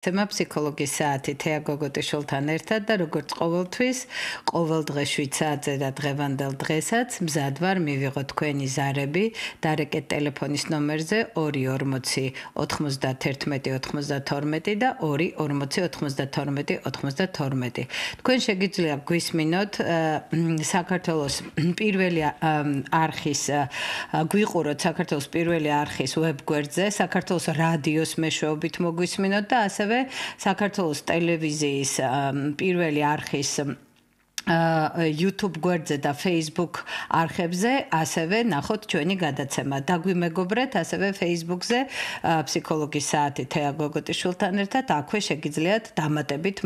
თემა ფსიქოლოგიის საათი თეა გოგოტიშვილთან ერთად და როგორც ყოველთვის, ყოველ დღე 7 საათზე და დღევანდელ დღესაც მზად ვარ მივიღო თქვენი ზარები დარეკეთ ტელეფონის ნომერზე 240 91 92 და 240 92 92. თქვენ შეგიძლია გვისმინოთ საქართველოს პირველი არხის გვიყუროთ საქართველოს პირველი არხის ვებგვერდზე, საქართველოს რადიოს მეშვეობით მოგვისმინოთ და ასევე საქართველოს ტელევიზიის პირველი არხის YouTube გვერდზე და Facebook არხებზე ასევე ნახოთ ჩვენი გადაცემა. დაგვიმეგობრეთ ასევე Facebook-ზე ფსიქოლოგიის საათი თეა გოგოტიშვილთან ერთად აქვე შეგიძლიათ დამატებით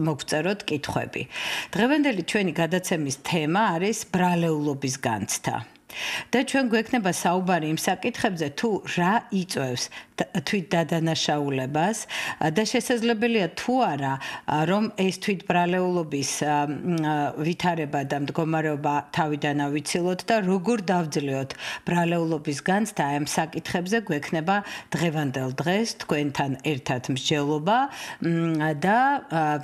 მოგწეროთ კითხვები. დღევანდელი ჩვენი გადაცემის თემა არის ბრალეულობის განცდა. და ჩვენ გვექნება საუბარი იმ საკითხებზე თუ რა იწვევს თვით დადანაშაულებას და შესაძლებელია თუ არა რომ ეს თვით ბრალეულობის ვითარება და მდგომარეობა თავიდან ავიცილოთ და როგორ დავძლიოთ ბრალეულობის განცდა ამ საკითხებზე გვექნება დღევანდელ დღეს თქვენთან ერთად მსჯელობა და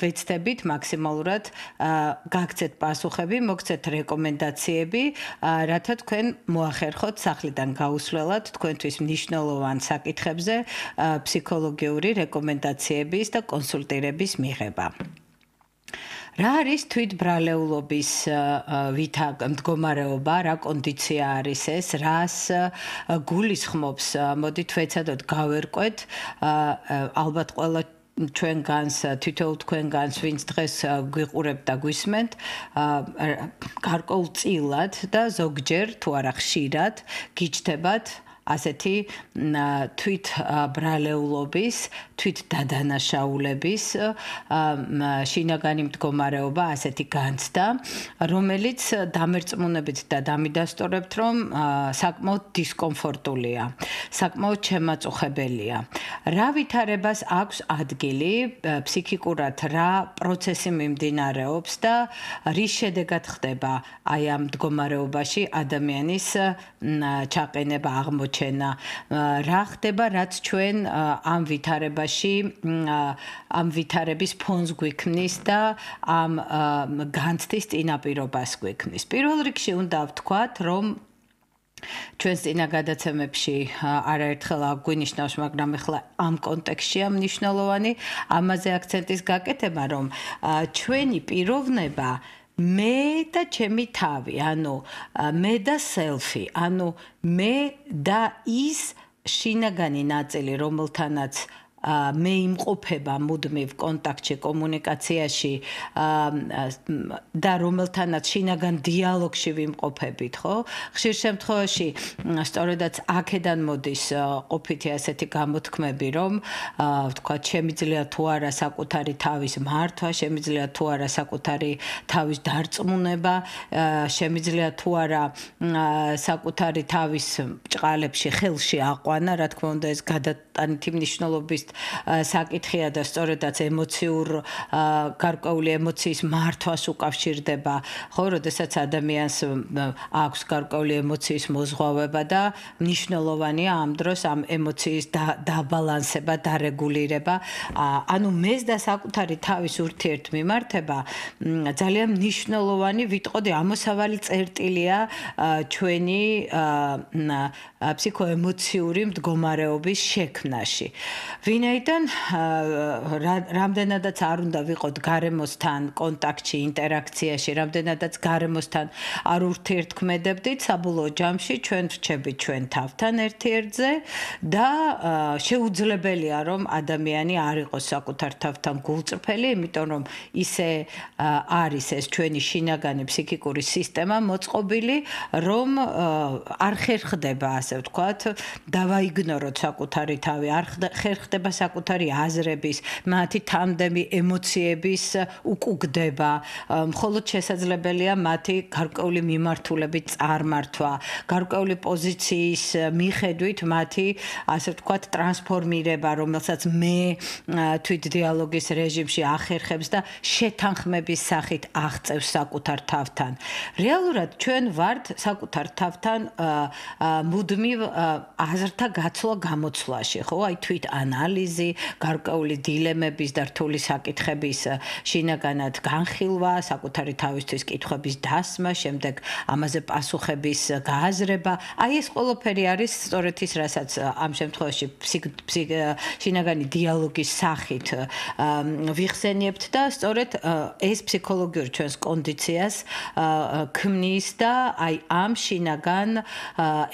ვეცდებით მაქსიმალურად გაგცეთ პასუხები, მოგცეთ რეკომენდაციები, რათა თქვენ მოახერხოთ სახლიდან გაუსვლელად თქვენთვის მნიშვნელოვან საკითხებზე ფსიქოლოგიური რეკომენდაციების და კონსულტირების მიღება. რა არის თვითბრალეულობის მდგომარეობა, რა კონდიცია არის ეს, რას გულისხმობს, მოდით ვეცადოთ გავერკვეთ, ალბათ ყველა ჩვენგანს, თითოეულ თქვენგანს, ვინც დღეს გვიყურებთ და გვისმენთ, გარკვეულწილად და ზოგჯერ თუ არა ხშირად გიჩნდებათ ასეთი თვით ბრალეულობის, თვით დადანაშაულების შინაგანი მდგომარეობა, ასეთი განცდა, რომელიც დამერწმუნებით და დამიდასტურებთ, რომ საკმაოდ დისკომფორტულია, საკმაოდ შემაწუხებელია. რა ვითარებას აქვს ადგილი, ფსიქიკურად რა პროცესი მიმდინარეობს და რის შედეგად ხდება აი ამ მდგომარეობაში ადამიანის ჩაყენება, აღმოჩენა, რა ხდება, რაც ჩვენ ამ ვითარებაში, ამ ვითარების ფონს გვიქმნის და ამ განცდის წინაპირობას გვიქმნის. პირველ რიგში უნდა ვთქვათ, რომ ჩვენს წინა გადაცემებში არაერთხელ აგვინიშნავს, მაგრამ ახლა ამ კონტექსტშია მნიშვნელოვანი ამაზე აქცენტის გაკეთება, რომ ჩვენი პიროვნება მე და ჩემი თავი, ანუ მე და self-ი, ანუ მე და ის შინაგანი ნაწილი, რომელთანაც მე იმყოფება მუდმივ კონტაქტში, კომუნიკაციაში და რომელთანაც შინაგან დიალოგში ვიმყოფებით, ხო? ხშირ შემთხვევაში სწორედაც აქედან მოდის ყოფითი ასეთი გამოთქმები, რომ ვთქვათ, შემიძლია თუ არა საკუთარი თავის მართვა, შემიძლია თუ არა საკუთარი თავის დარწმუნება, შემიძლია თუ არა საკუთარი თავის ბრჭყალებში, ხელში აყვანა, რა თქმა უნდა, ეს გადატანითი მნიშვნელობის საკითხია და სწორედაც გარკვეული ემოციის მართვას უკავშირდება, ხო, როდესაც ადამიანს აქვს გარკვეული ემოციის მოზღვავება და მნიშვნელოვანია ამ დროს ამ ემოციის დაბალანსება, დარეგულირება, ანუ მეს და საკუთარი თავის ურთიერთმიმართება ძალიან მნიშვნელოვანი, ვიტყოდი, ამოსავალი წერტილია ჩვენი ფსიქოემოციური მდგომარეობის შექმნაში. ვინაიდან რამდენადაც არ უნდა ვიყოთ გარემოსთან კონტაქტში, ინტერაქციაში, რამდენადაც გარემოსთან არ ურთიერთქმედებდით, საბოლოო ჯამში ჩვენ ვრჩებით ჩვენ თავთან ერთ-ერთზე და შეუძლებელია, რომ ადამიანი არ იყოს საკუთარ თავთან გულწრფელი, იმიტომ რომ ისე არის ეს ჩვენი შინაგანი ფსიქიკური სისტემა მოწყობილი, რომ არ ხერხდება, ასე ვთქვათ, დავაიგნოროთ საკუთარი თავი, არ ხერხდება საკუთარი აზრების, მათი თანდემი ემოციების უკუგდება, მხოლოდ შესაძლებელია მათი გარკვეული მიმართულებით წარმართვა, გარკვეული პოზიციის მიხედვით მათი, ასე ვთქვათ, ტრანსფორმირება, რომელსაც მე თვით დიალოგის რეჟიმში ახერხებს და შეთანხმების სახით აღწევს საკუთარ თავთან. რეალურად ჩვენ ვართ საკუთარ თავთან მუდმივ აზრთა გაცვლა-გამოცვლაში, ხო? აი თვით ანალიზი ანალიზი, გარკვეული დილემების და რთული საკითხების შინაგანად განხილვა, საკუთარი თავისთვის კითხვების დასმა, შემდეგ ამაზე პასუხების გააზრება. აი ეს ყველაფერი არის სწორედ ის, რასაც ამ შემთხვევაში შინაგანი დიალოგის სახით ვიხსენიებთ და სწორედ ეს ფსიქოლოგიური ჩვენს კონდიციას ქმნის და აი ამ შინაგან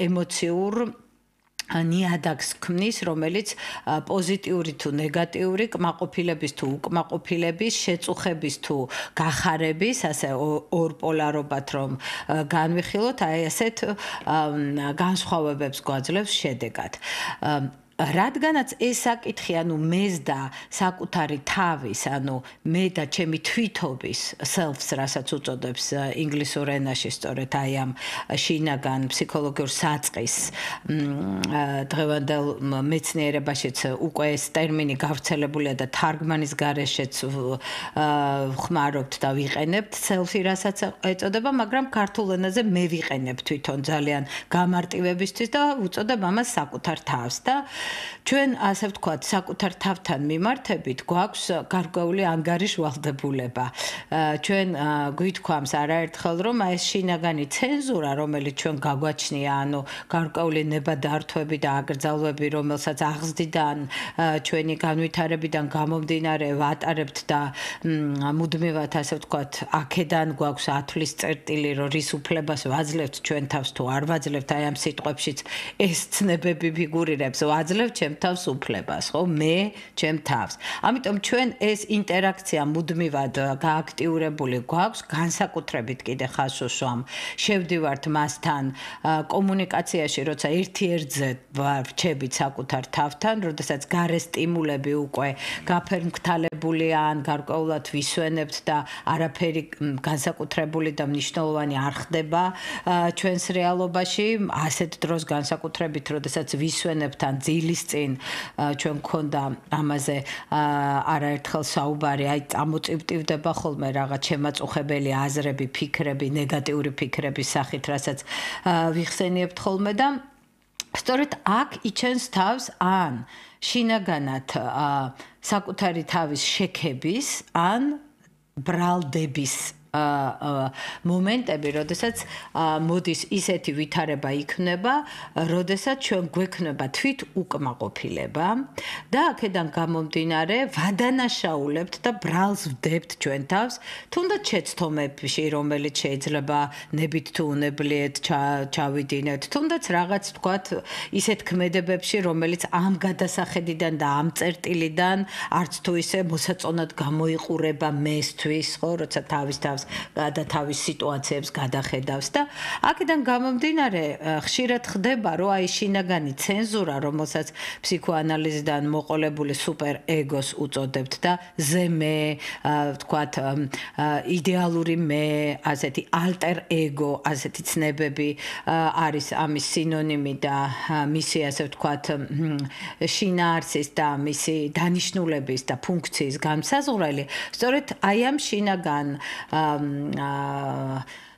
ემოციურ ნიადაგს ქმნის, რომელიც პოზიტიური თუ ნეგატიური კმაყოფილების თუ უკმაყოფილების, შეწუხების თუ გახარების, ასე ორპოლარობად რომ განვიხილოთ, აი ასეთ განსხვავებებს გვაძლევს შედეგად. რადგანაც ეს საკითხი, ანუ მეს და საკუთარი თავის, ანუ მე და ჩემი თვითობის self-ს, რასაც უწოდებს ინგლისურ ენაში სწორედ აი ამ შინაგან ფსიქოლოგიურ საწყის დღევანდელ მეცნიერებაშიც უკვე ეს ტერმინი გავრცელებულია და თარგმანის გარეშეც ვხმარობთ და ვიყენებთ self-ი, რასაც ეწოდება, მაგრამ ქართულ ენაზე მე ვიყენებ თვითონ ძალიან გამარტივებისთვის და უწოდებ ამას საკუთარ თავს და ჩვენ ასე ვთქვათ, საკუთარ თავთან მიმართებით გვაქვს გარკვეული ანგარიშვალდებულება. ჩვენ გვითქვამს არაერთხელ, რომ ეს შინაგანი ცენზურა, რომელიც ჩვენ გაგვაჩნია, ანუ გარკვეული ნებადართვები და აკრძალვები, რომელსაც აღზრდიდან ჩვენი განვითარებიდან გამომდინარე ვატარებთ და მუდმივად ასე ვთქვათ, აქედან გვაქვს ათვლის წერტილი, რომ რის უფლებას ვაძლევთ ჩვენ თავს თუ არ ვაძლევთ, აი ამ სიტყვებშიც ეს ცნებები ფიგურირებს, ვაძლევთ ჩემ თავს უფლებას, ხო? მე ჩემ თავს. ამიტომ ჩვენ ეს ინტერაქცია მუდმივად გააქტიურებული გვაქვს, განსაკუთრებით კიდე ხას უსვამ. შევდივართ მასთან კომუნიკაციაში, როცა ერთ-ერთზე ვარჩებით საკუთარ თავთან, როდესაც გარე სტიმულები უკვე გაფერმქთალებული ან გარკვეულად ვისვენებთ და არაფერი განსაკუთრებული და მნიშვნელოვანი არ ხდება ჩვენს რეალობაში, ასეთ დროს განსაკუთრებით, როდესაც ვისვენებთ ან დილის წინ ჩვენ მქონდა ამაზე არაერთხელ საუბარი, აი წამოწივტივდება ხოლმე რაღაც შემაწუხებელი აზრები, ფიქრები, ნეგატიური ფიქრების სახით, რასაც ვიხსენიებთ ხოლმე და სწორედ აქ იჩენს თავს ან შინაგანად საკუთარი თავის შექების, ან ბრალდების მომენტები, როდესაც მოდის ისეთი ვითარება იქნება, როდესაც ჩვენ გვექნება თვით უკმაყოფილება და აქედან გამომდინარე ვადანაშაულებთ და ბრალს ვდებთ ჩვენ თავს, თუნდაც შეცდომებში, რომელიც შეიძლება ნებით თუ უნებლიეთ ჩავიდინეთ, თუნდაც რაღაც თქვათ ისეთ ქმედებებში, რომელიც ამ გადასახედიდან და ამ წერტილიდან არც თუ ისე მოსაწონად გამოიყურება მესთვის, ხო, როცა თავის და თავის სიტუაციებს გადახედავს და აქედან გამომდინარე ხშირად ხდება, რომ აი შინაგანი ცენზურა, რომელსაც ფსიქოანალიზიდან მოყოლებული სუპერ ეგოს უწოდებთ და ზე მე, ვთქვათ, იდეალური მე, ასეთი ალტერ ეგო, ასეთი ცნებები არის ამის სინონიმი და მისი ასე ვთქვათ შინაარსის და მისი დანიშნულების და ფუნქციის განსაზღვრელი, სწორედ აი ამ შინაგან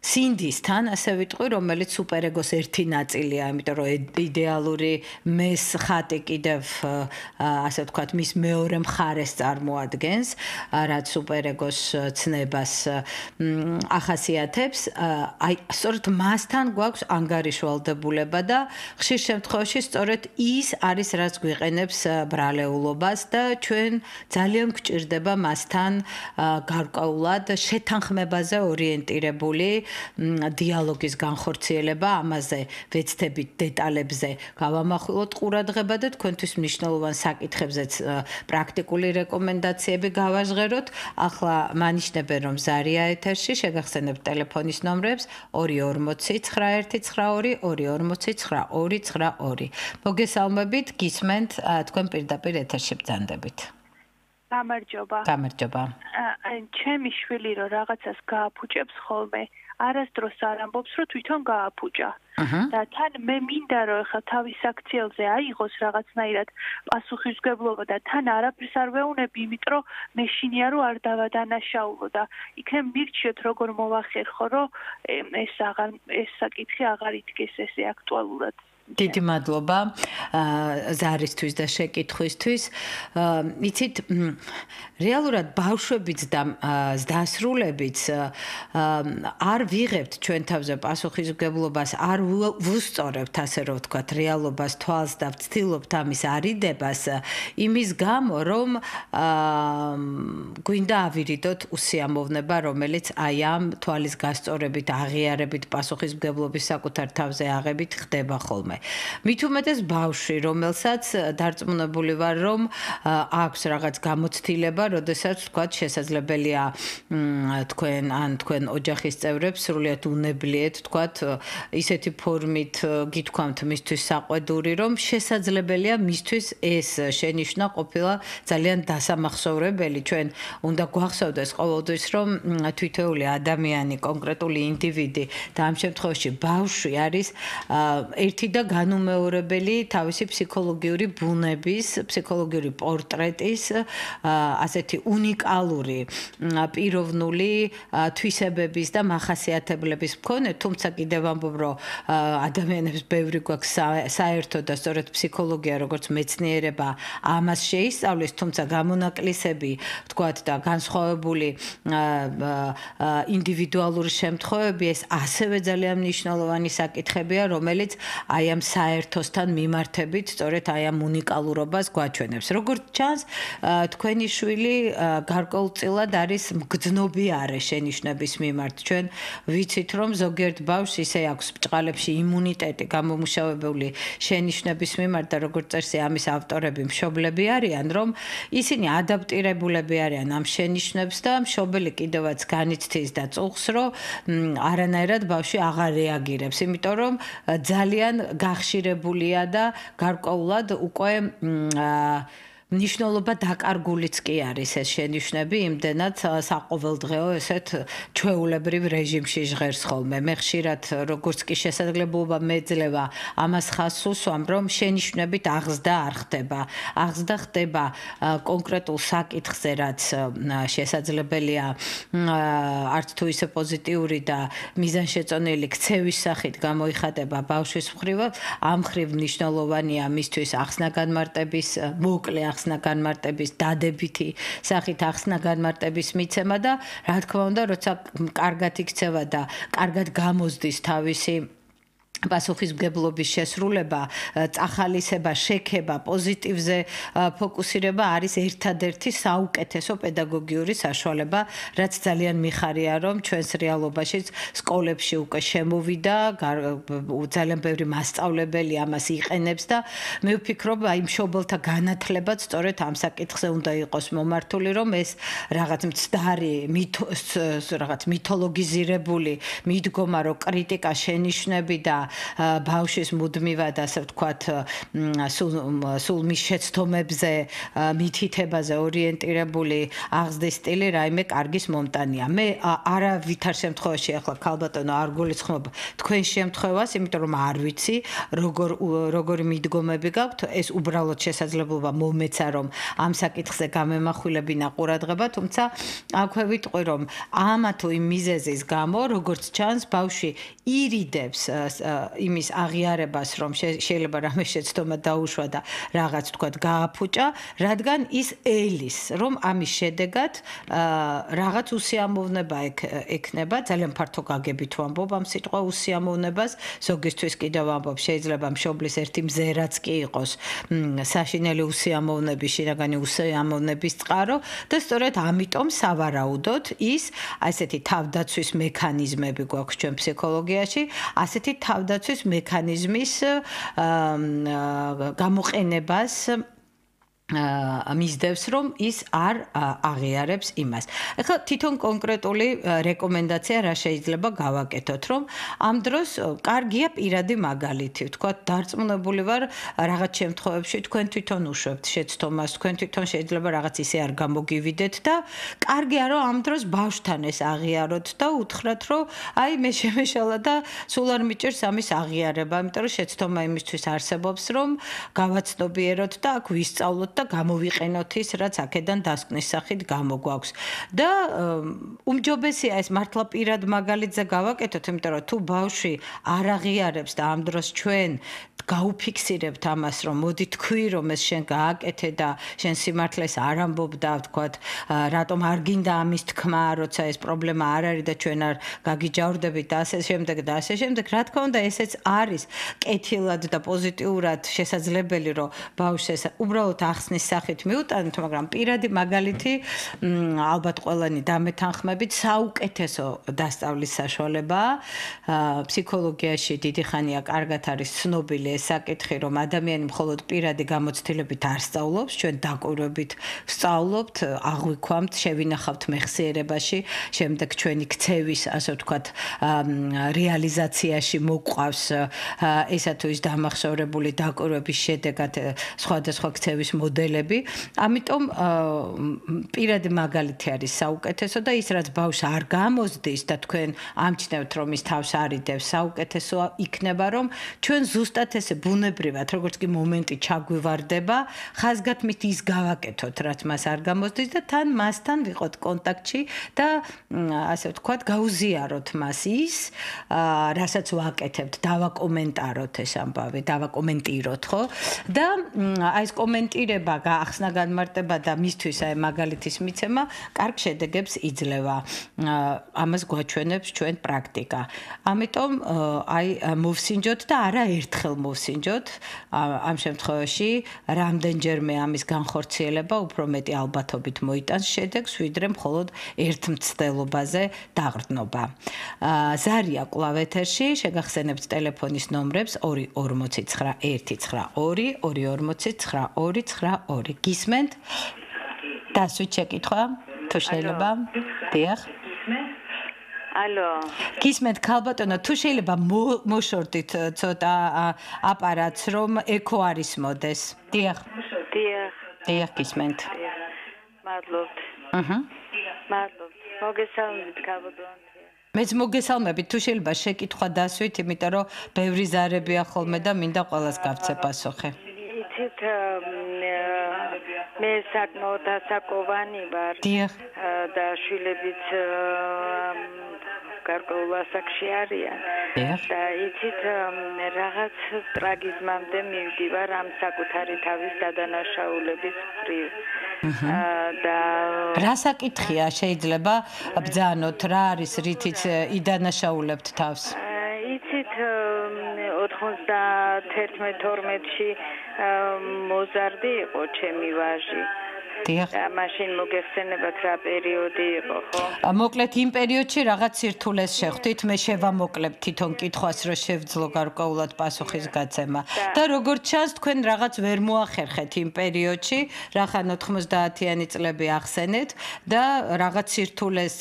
სინდისთან, ასე ვიტყვი, რომელიც სუპერეგოს ერთი ნაწილია, იმიტომ რომ იდეალური მეს ხატი კიდევ ასე ვთქვათ, მის მეორე მხარეს წარმოადგენს, რაც სუპერეგოს ცნებას ახასიათებს. აი, სწორედ მასთან გვაქვს ანგარიშვალდებულება და ხშირ შემთხვევაში სწორედ ის არის, რაც გვიყენებს ბრალეულობას და ჩვენ ძალიან გვჭირდება მასთან გარკვეულად შეთანხმებაზე ორიენტირებული დიალოგის განხორციელება, ამაზე ვეცდებით დეტალებზე გავამახვილოთ ყურადღება და თქვენთვის მნიშვნელოვან საკითხებზეც პრაქტიკული რეკომენდაციები გავაჟღეროთ. ახლა მანიშნებენ, რომ ზარია ეთერში, შეგახსენებთ ტელეფონის ნომრებს 240 912 240 922. მოგესალმებით, გისმენთ, თქვენ პირდაპირ ეთერში ბრძანდებით. გამარჯობა. გამარჯობა. ჩემი შვილი რომ რაღაცას გააფუჭებს ხოლმე, არასდროს არ ამბობს, რომ თვითონ გააფუჭა. და თან მე მინდა რომ ხა თავის აქციელზე აიღოს რაღაცნაირად პასუხისმგებლობა და თან არაფერს არ ვეუნები, იმიტომ რომ მე შინია რომ არ დავადანაშაულო და იქნებ მირჩიოთ როგორ მოვახერხო, რომ ეს საკითხი აღარ იდგეს ესე აქტუალურად დიდი მადლობა ზარისთვის და შეკითხვისთვის. იცით, რეალურად ბავშვებიც და ზდასრულებიც არ ვიღებთ ჩვენ თავზე პასუხისმგებლობას, არ ვუსწორებთ, ასე რომ ვთქვათ, რეალობას თვალს და ვცდილობთ ამის არიდებას, იმის გამო, რომ გვინდა ავირიდოთ უსიამოვნება, რომელიც აი ამ თვალის გასწორებით, აღიარებით, პასუხისმგებლობის საკუთარ თავზე აღებით ხდება ხოლმე. მით უმეტეს ბავშვი, რომელსაც დარწმუნებული ვარ, რომ აქვს რაღაც გამოცდილება, როდესაც ვთქვათ, შესაძლებელია თქვენ ოჯახის წევრებს სრულიად უნებლიეთ, ვთქვათ, ისეთი ფორმით გითქვამთ მისთვის საყვედური, რომ შესაძლებელია მისთვის ეს შენიშვნა ყოფილა ძალიან დასამახსოვრებელი. ჩვენ უნდა გვახსოვდეს ყოველთვის, რომ თითოეული ადამიანი, კონკრეტული ინდივიდი და ამ შემთხვევაში ბავშვი არის ერთი და განუმეორებელი თავისი ფსიქოლოგიური ბუნების, ფსიქოლოგიური პორტრეტის, ასეთი უნიკალური პიროვნული თვისებების და მახასიათებლების მქონე, თუმცა კიდევ ამბობ, რომ ადამიანებს ბევრი გვაქვს საერთო და სწორედ ფსიქოლოგია, როგორც მეცნიერება, ამას შეისწავლის, თუმცა გამონაკლისები, ვთქვათ, და განსხვავებული ინდივიდუალური შემთხვევები ეს ასევე ძალიან მნიშვნელოვანი საკითხებია, რომელიც აი ამ საერთოსთან მიმართებით, სწორედ აი ამ უნიკალურობას გვაჩვენებს. როგორც ჩანს, თქვენი შვილი გარკვეულწილად არის მგრძნობიარე შენიშვნების მიმართ. ჩვენ ვიცით, რომ ზოგიერთ ბავშვს ისე აქვს ბჭყალებში იმუნიტეტი გამომუშავებული შენიშვნების მიმართ და როგორც წესი ამის ავტორები მშობლები არიან, რომ ისინი ადაპტირებულები არიან ამ შენიშვნებს და მშობელი კიდევაც განიცდის და წუხს, რომ არანაირად ბავშვი აღარ რეაგირებს, იმიტომ რომ ძალიან გახშირებულია და გარკვეულად უკვე მნიშვნელობა დაკარგულიც კი არის ეს შენიშვნები, იმდენად საყოველდღეო ესეთ ჩვეულებრივ რეჟიმში ჟღერს ხოლმე. მე ხშირად როგორც კი შესაძლებლობა მეძლევა ამას ხაზს უსვამ, რომ შენიშვნებით აღზრდა არ ხდება. აღზრდა ხდება კონკრეტულ საკითხზე, რაც შესაძლებელია არც თუ ისე პოზიტიური და მიზანშეწონილი ქცევის სახით გამოიხატება ბავშვის მხრივ, ამ მხრივ მნიშვნელოვანია მისთვის ახსნა-განმარტების მოკლე ახსნა-განმარტების დადებითი სახით ახსნა-განმარტების მიცემა და რა თქმა უნდა, როცა კარგად იქცევა და კარგად გამოზდის თავისი პასუხისმგებლობის შესრულება, წახალისება, შექება, პოზიტივზე ფოკუსირება არის ერთადერთი საუკეთესო პედაგოგიური საშუალება, რაც ძალიან მიხარია, რომ ჩვენს რეალობაშიც სკოლებში უკვე შემოვიდა, ძალიან ბევრი მასწავლებელი ამას იყენებს და მე ვფიქრობ, აი მშობელთა განათლებაც სწორედ ამ საკითხზე უნდა იყოს მომართული, რომ ეს რაღაც მცდარი, რაღაც მითოლოგიზირებული მიდგომა, რომ კრიტიკა, შენიშვნები და ბავშვის მუდმივად, ასე ვთქვათ, სულ მის შეცდომებზე, მითითებაზე ორიენტირებული აღზრდის სტილი რაიმე კარგის მომტანია. მე არავითარ შემთხვევაში ახლა ქალბატონო არ გულისხმობ თქვენ შემთხვევას, იმიტომ რომ არ ვიცი, როგორი მიდგომები გაქვთ, ეს უბრალოდ შესაძლებლობა მომეცა, რომ ამ საკითხზე გამემახვილებინა ყურადღება, თუმცა აქვე ვიტყვი, რომ ამა თუ იმ მიზეზის გამო, როგორც ჩანს, ბავშვი ირიდებს იმის აღიარებას, რომ შეიძლება რამე შეცდომა დაუშვა და რაღაც თქვათ გააფუჭა, რადგან ის ელის, რომ ამის შედეგად რაღაც უსიამოვნება ექნება, ძალიან ფართო გაგებით ვამბობ ამ სიტყვა უსიამოვნებას, ზოგისთვის კიდევ ვამბობ, შეიძლება მშობლის ერთი მზერაც კი იყოს საშინელი უსიამოვნების, შინაგანი უსიამოვნების წყარო და სწორედ ამიტომ სავარაუდოდ ის ასეთი თავდაცვის მექანიზმები გვაქვს ჩვენ ფსიქოლოგიაში, ასეთი თავდაცვის მექანიზმის გამოყენებას მისდევს, რომ ის არ აღიარებს იმას. ეხლა თვითონ კონკრეტული რეკომენდაცია რა შეიძლება გავაკეთოთ, რომ ამ დროს კარგია პირადი მაგალითი, ვთქვათ, დარწმუნებული ვარ რაღაც შემთხვევებში თქვენ თვითონ უშვებთ შეცდომას, თქვენ თვითონ შეიძლება რაღაც ისე არ გამოგივიდეთ და კარგია, რომ ამ დროს ბავშვთან ეს აღიაროთ და უთხრათ, რომ აი მე შემეშალა და სულ არ მიჭირს ამის აღიარება, იმიტომ რომ შეცდომა იმისთვის არსებობს, რომ გავაცნობიეროთ და აქ ვისწავლოთ და გამოვიყენოთ ის, რაც აქედან დასკვნის სახით გამოგვაქვს. და უმჯობესია ეს მართლა პირად მაგალითზე გავაკეთოთ, იმიტომ რომ თუ ბავშვი არ აღიარებს და ამ დროს ჩვენ გაუფიქსირებთ ამას, რომ მოდი თქვი, რომ ეს შენ გააკეთე და შენ სიმართლეს არ ამბობ და ვთქვათ, რატომ არ გინდა ამის თქმა, როცა ეს პრობლემა არ არის და ჩვენ არ გაგიჯავრდებით და ასე შემდეგ და ასე შემდეგ. რა თქმა უნდა, ესეც არის კეთილად და პოზიტიურად შესაძლებელი, რომ ბავშვს ეს უბრალოდ ახსნის სახით მიუტანოთ, მაგრამ პირადი მაგალითი ალბათ ყველანი დამეთანხმებით საუკეთესო დასწავლის საშუალებაა. ფსიქოლოგიაში დიდი ხანია კარგად არის ცნობილი ეს საკითხი, რომ ადამიანი მხოლოდ პირადი გამოცდილებით არ სწავლობს, ჩვენ დაკვირვებით ვსწავლობთ, აღვიქვამთ, შევინახავთ მეხსიერებაში, შემდეგ ჩვენი ქცევის, ასე ვთქვათ, რეალიზაციაში მოყვავს ესა თუ ის დამახსოვრებული დაკვირვების შედეგად სხვადასხვა ქცევის მოდელები. ამიტომ პირადი მაგალითი არის საუკეთესო და ის რაც ბავშვს არ გამოზდის და თქვენ ამჩნევთ რომ ის თავს არიდევს, საუკეთესო იქნება რომ ჩვენ ზუსტად ესე ბუნებრივად როგორც კი მომენტი ჩაგვივარდება, ხაზგათმით ის გავაკეთოთ რაც მას არ გამოზდის და თან მასთან ვიყოთ კონტაქტში და ასე ვთქვათ გაუზიაროთ მას ის რასაც ვაკეთებთ, დავაკომენტაროთ ეს ამბავი, დავაკომენტიროთ, ხო? და აი ეს კომენტირება, გაახსნა განმარტება და მისთვის აი მაგალითის მიცემა კარგ შედეგებს იძლევა. ამას გვაჩვენებს ჩვენ პრაქტიკა. ამიტომ აი მოვსინჯოთ და არა ერთხელ მოვსინჯოთ. ამ შემთხვევაში რამდენჯერმე ამის განხორციელება უფრო მეტი ალბათობით მოიტანს შედეგს, ვიდრე მხოლოდ ერთ მცდელობაზე დაყრდნობა. ზარია კვლავ ეთერში, შეგახსენებთ ტელეფონის ნომრებს 249 249 გისმენთ? დასვით შეკითხვა, თუ შეიძლება? დიახ. ალო. გისმენთ ქალბატონო, თუ შეიძლება მოშორდით ცოტა აპარატს, რომ ეკო არის მოდეს. დიახ. დიახ, გისმენთ. მადლობთ. მადლობთ. მოგესალმებით ქალბატონო. მეც მოგესალმებით, თუ შეიძლება შეკითხვა დასვით, იმიტომ რომ ბევრი ზარებია ხოლმე და მინდა ყველას გავცე პასუხი. იცით, მე საკმაოდ ასაკოვანი ვარ. დიახ. და შვილებიც გარკვეულ ასაკში არიან. და იცით, რაღაც ტრაგიზმამდე მივდივარ ამ საკუთარი თავის დადანაშაულების მხრივ. და რა საკითხია შეიძლება ბძანოთ, რა არის რითიც იდანაშაულებთ თავს? იცით 91-12-ში მოზარდი იყო ჩემი ვაჟი. დიახ. მაშინ მოგეხსენებათ რა პერიოდი იყო, ხო? მოკლედ იმ პერიოდში რაღაც სირთულეს შეხვდით, მე შევამოკლებ თვითონ კითხვას, რომ შევძლო გარკვეულად პასუხის გაცემა. და როგორც ჩანს, თქვენ რაღაც ვერ მოახერხეთ იმ პერიოდში, რახან 90-იანი წლები ახსენეთ და რაღაც სირთულეს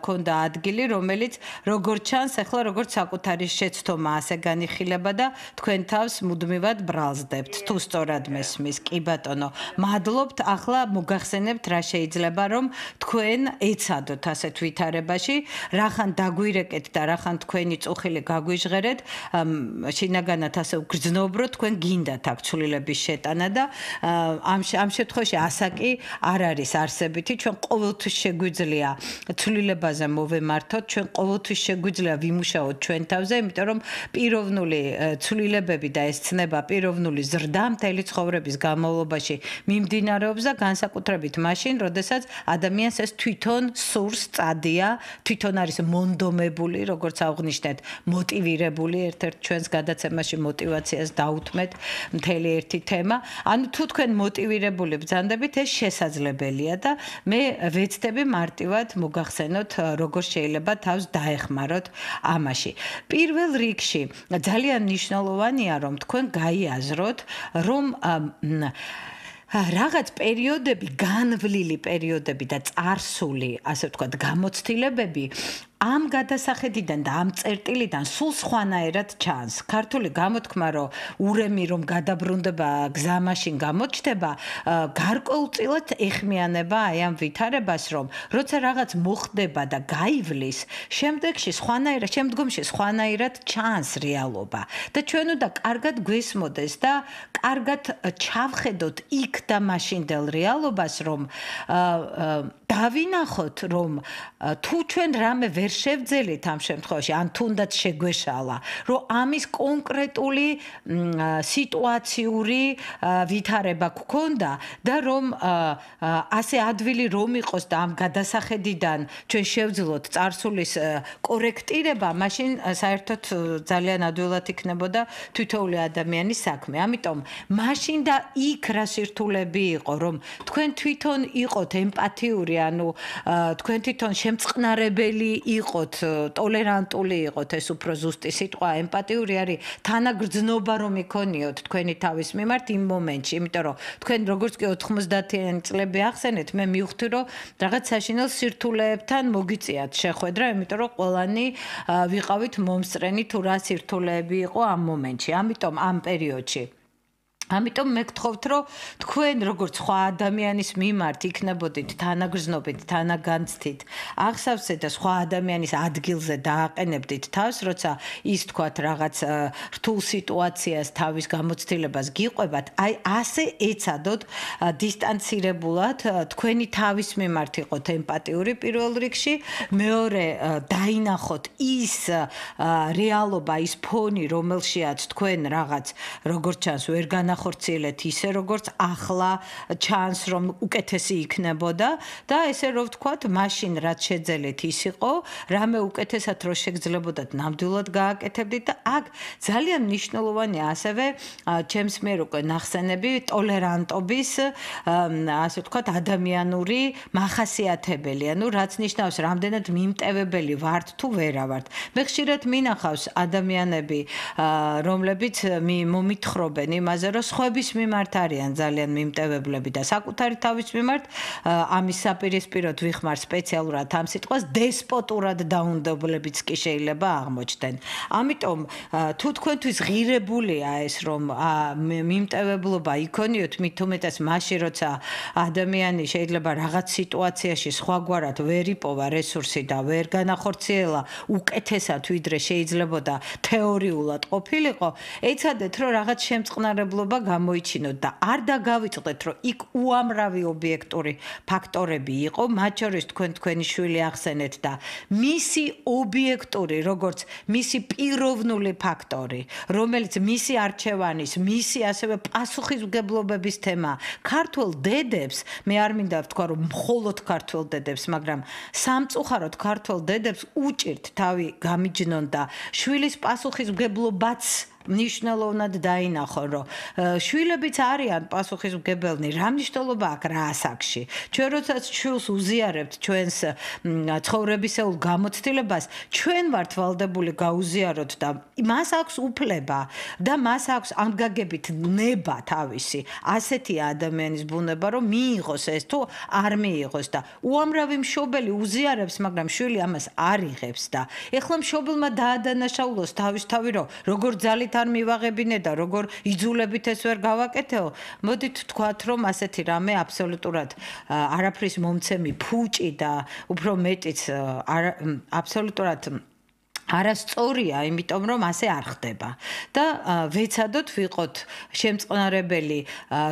ქონდა ადგილი, რომელიც როგორც ჩანს, ახლა როგორც საკუთარი შეცდომა ასე განიხილება და თქვენ თავს მუდმივად ბრალზდებთ. თუ სწორად მესმის, კი ბატონო, მადლობთ. ახლა გახსენებთ რა შეიძლება რომ თქვენ ეცადოთ ასეთ ვითარებაში, რახან დაგვირეკეთ და რახან თქვენი წუხილი გაგვიჟღერეთ, შინაგანად ასე უგრძნობროთ, თქვენ გინდათ აქ ცვლილების შეტანა და ამ შემთხვევაში ასაკი არ არის არსებითი, ჩვენ ყოველთვის შეგვიძლია ცვლილებაზე მოვემართოთ, ჩვენ ყოველთვის შეგვიძლია ვიმუშაოთ ჩვენ თავზე, იმიტომ რომ პიროვნული ცვლილებები და ეს ცნება პიროვნული ზრდა მთელი ცხოვრების განმავლობაში მიმდინარეობს და განსაკუთრებით მაშინ, როდესაც ადამიანს ეს თვითონ სურს, წადია, თვითონ არის მონდომებული, როგორც აღნიშნეთ, მოტივირებული, ერთ-ერთ ჩვენს გადაცემაში მოტივაციას დაუთმეთ მთელი ერთი თემა. ანუ თუ თქვენ მოტივირებული ბრძანდებით, ეს შესაძლებელია და მე ვეცდები მარტივად მოგახსენოთ, როგორ შეიძლება თავს დაეხმაროთ ამაში. პირველ რიგში ძალიან მნიშვნელოვანია, რომ თქვენ გაიაზროთ, რომ რაღაც პერიოდები, განვლილი პერიოდები და წარსული, ასე ვთქვათ, გამოცდილებები ამ გადასახედიდან და ამ წერტილიდან სულ სხვანაირად ჩანს. ქართული გამოთქმა, რომ ურემი რომ გადაბრუნდება გზა მაშინ გამოჩნდება, გარკვეულწილად ეხმიანება აი ამ ვითარებას, რომ როცა რაღაც მოხდება და გაივლის, შემდგომში სხვანაირად ჩანს რეალობა. და ჩვენ უნდა კარგად გვესმოდეს და კარგად ჩავხედოთ იქ და მაშინდელ რეალობას, რომ დავინახოთ, რომ თუ ჩვენ რამე ვერ შევძელით ამ შემთხვევაში, ან თუნდაც შეგვეშალა, რომ ამის კონკრეტული სიტუაციური ვითარება გქონდა და რომ ასე ადვილი რომ იყოს და ამ გადასახედიდან ჩვენ შევძლოთ წარსულის კორექტირება, მაშინ საერთოდ ძალიან ადვილად იქნებოდა თითოეული ადამიანის საქმე. ამიტომ მაშინ და იქ რა სირთულები იყო, რომ თქვენ თვითონ იყოთ ემპათიური, ანუ თქვენ თვითონ შემწყნარებელი იყოთ, ტოლერანტული იყოთ, ეს უფრო ზუსტი სიტყვა, ემპათიური არის თანაგრძნობა რომ იქონიოთ თქვენი თავის მიმართ იმ მომენტში, იმიტომ რომ თქვენ როგორც კი 90-იანი წლები ახსენეთ, მე მივხვდი რომ რაღაც საშინელ სირთულეებთან მოგიწიათ შეხვედრა, იმიტომ რომ ყველანი ვიყავით მომსწრენი თუ რა სირთულეები იყო ამ მომენტში. ამიტომ ამ პერიოდში ამიტომ მე გთხოვთ, რომ თქვენ როგორც სხვა ადამიანის მიმართ იქნებოდით თანაგრძნობით, თანაგანცდით, აღსავსე და სხვა ადამიანის ადგილზე დააყენებდით თავს, როცა ის თქვათ რაღაც რთულ სიტუაციას თავის გამოცდილებას გიყვებათ, აი ასე ეცადოთ დისტანცირებულად თქვენი თავის მიმართ იყოთ ემპათიური პირველ რიგში, მეორე დაინახოთ ის რეალობა, ის ფონი, რომელშიაც თქვენ რაღაც როგორც ჩანს ვერ განახორციელეთ ისე როგორც ახლა ჩანს რომ უკეთესი იქნებოდა და ესე რომ ვთქვათ, მაშინ რაც შეძელეთ ის იყო, რამე უკეთესად რო შეგძლებოდათ, ნამდვილად გააკეთებდით და აქ ძალიან მნიშვნელოვანია ასევე ჩემს მიერ უკვე ნახსენები ტოლერანტობის, ასე ვთქვათ, ადამიანური მახასიათებელი, ანუ რაც ნიშნავს, რამდენად მიმტევებელი ვართ თუ ვერა ვართ. მე ხშირად მინახავს ადამიანები, რომლებიც მომითხრობენ იმაზე, რომ სხვების მიმართ არიან ძალიან მიმტევებლები და საკუთარი თავის მიმართ ამის საპირისპიროდ ვიხმარ სპეციალურად ამ სიტყვას დესპოტურად დაუნდობლებიც კი შეიძლება აღმოჩნდნენ. ამიტომ თუ თქვენთვის ღირებულია ეს რომ მიმტევებლობა იქონიოთ, მით უმეტეს მაშინ როცა ადამიანი შეიძლება რაღაც სიტუაციაში სხვაგვარად ვერ იპოვა რესურსი და ვერ განახორციელა უკეთესად ვიდრე შეიძლებოდა თეორიულად ყოფილიყო, ეცადეთ რომ რაღაც შემწყნარებლობა გამოიჩინოთ და არ დაგავიწყდეთ, რომ იქ უამრავი ობიექტური ფაქტორები იყო, მათ შორის თქვენი შვილი ახსენეთ და მისი ობიექტური, როგორც მისი პიროვნული ფაქტორი, რომელიც მისი არჩევანის, მისი ასევე პასუხისმგებლობების თემა, ქართველ დედებს, მე არ მინდა ვთქვა, რომ მხოლოდ ქართველ დედებს, მაგრამ სამწუხაროდ ქართველ დედებს უჭირთ თავი გამიჯნონ და შვილის პასუხისმგებლობაც მნიშვნელოვნად დაინახო, რომ შვილებიც არიან პასუხისმგებელნი, რა მნიშვნელობა აქვს რა ასაკში. ჩვენ როდესაც შვილს უზიარებთ ჩვენს ცხოვრებისეულ გამოცდილებას, ჩვენ ვართ ვალდებული გაუზიაროთ და მას აქვს უფლება და მას აქვს ამ გაგებით ნება თავისი. ასეთია ადამიანის ბუნება, რომ მიიღოს ეს თუ არ მიიღოს და უამრავი მშობელი უზიარებს, მაგრამ შვილი ამას არ იღებს და ეხლა მშობელმა დაადანაშაულოს თავისთავი, რომ როგორ ძალით არ მივაღებინე და როგორ იძულებით ეს ვერ გავაკეთეო, მოდით ვთქვათ, რომ ასეთი რამე აბსოლუტურად არაფრის მომცემი ფუჭი და უფრო მეტიც აბსოლუტურად არასწორია, იმიტომ რომ ასე არ ხდება და ვეცადოთ ვიყოთ შემწყნარებელი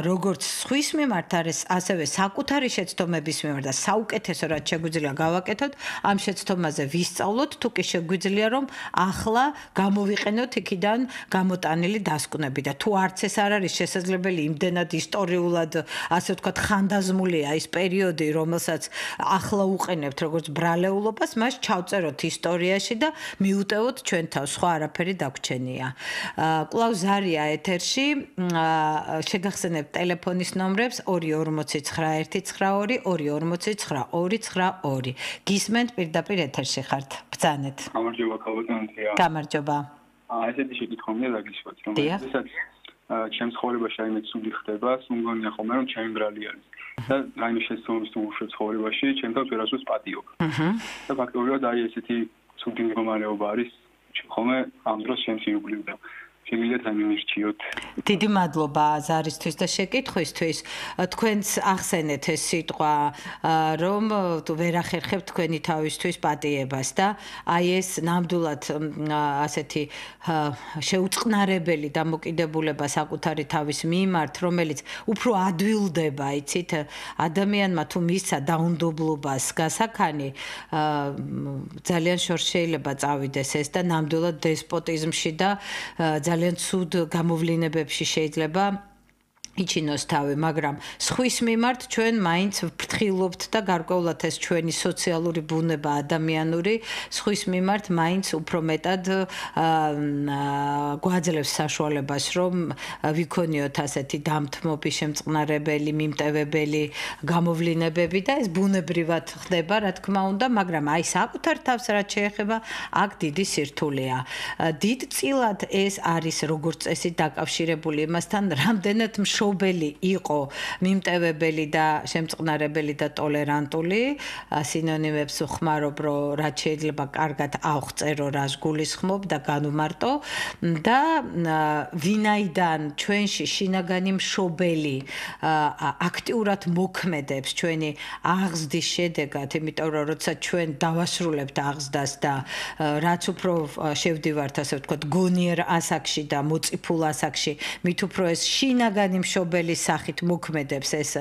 როგორც სხვის მიმართ, ასევე საკუთარი შეცდომების მიმართ და საუკეთესო რაც შეგვიძლია გავაკეთოთ, ამ შეცდომაზე ვისწავლოთ, თუ კი შეგვიძლია რომ ახლა გამოვიყენოთ იქიდან გამოტანილი დასკვნები და თუ არც ეს არ არის შესაძლებელი იმდენად ისტორიულად, ასე ვთქვათ, ხანდაზმულია ის პერიოდი, რომელსაც ახლა უყენებთ როგორც ბრალეულობას, მას ჩავწეროთ ისტორიაში და მიუტევოთ ჩვენ თავს, სხვა არაფერი დაგვრჩენია. კვლავ ზარია ეთერში, შეგახსენებთ ტელეფონის ნომრებს 249 249 გისმენთ პირდაპირ ეთერში ხართ. ბრძანეთ. გამარჯობა ქალბატონია. გამარჯობა. ესეთი შეკითხვა მინდა დაგიშვათ, რომ შესაძლოა ჩემს ცხოვრებაში აიმე ცუდი ხდება, სულ ხოლმე რომ ჩემი ბრალი არის. და აიმე შეცდომის თუ უშო ცხოვრებაში ჩემთან ვერასდროს პატიობ. და ფაქტობრივად აი ესეთი ცუდი მდგომარეობა არის ხოლმე ამ დროს ჩემს ირგვლივ და შეგიძლიათ ამირჩიოთ. დიდი მადლობა ზარისთვის და შეკითხვისთვის. თქვენს ახსენეთ ეს სიტყვა, რომ ვერ ახერხებთ თქვენი თავისთვის პატიებას და აი ეს ნამდვილად ასეთი შეუწყნარებელი დამოკიდებულება საკუთარი თავის მიმართ, რომელიც უფრო ადვილდება, იცით, ადამიანმა თუ მისცა დაუნდობლობას გასაქანი, ძალიან შორს შეიძლება წავიდეს ეს და ნამდვილად დესპოტიზმში და ძალიან ცუდ გამოვლინებებში შეიძლება იჩინოს თავი, მაგრამ სხვის მიმართ ჩვენ მაინც ვფრთხილობთ და გარკვეულად ეს ჩვენი სოციალური ბუნება ადამიანური, სხვის მიმართ მაინც უფრო მეტად გვაძლევს საშუალებას, რომ ვიქონიოთ ასეთი დამთმობი, შემწყნარებელი, მიმტევებელი გამოვლინებები და ეს ბუნებრივად ხდება, რა თქმა უნდა, მაგრამ აი საკუთარ თავს რაც შეეხება, აქ დიდი სირთულეა. დიდწილად ეს არის როგორც წესი დაკავშირებული იმასთან, რამდენად მშობელი იყო მიმტევებელი და შემწყნარებელი და ტოლერანტული, სინონიმებს ვხმარობ, რომ რაც შეიძლება კარგად ავღწერო, რას გულისხმობ და განვმარტო და ვინაიდან ჩვენში შინაგანი მშობელი აქტიურად მოქმედებს ჩვენი აღზრდის შედეგად, იმიტომ რომ როცა ჩვენ დავასრულებთ აღზრდას და რაც უფრო შევდივართ, ასე ვთქვათ, გონიერ ასაკში და მოწიფულ ასაკში, მით უფრო ეს შინაგანი მშობელის სახით მოქმედებს ეს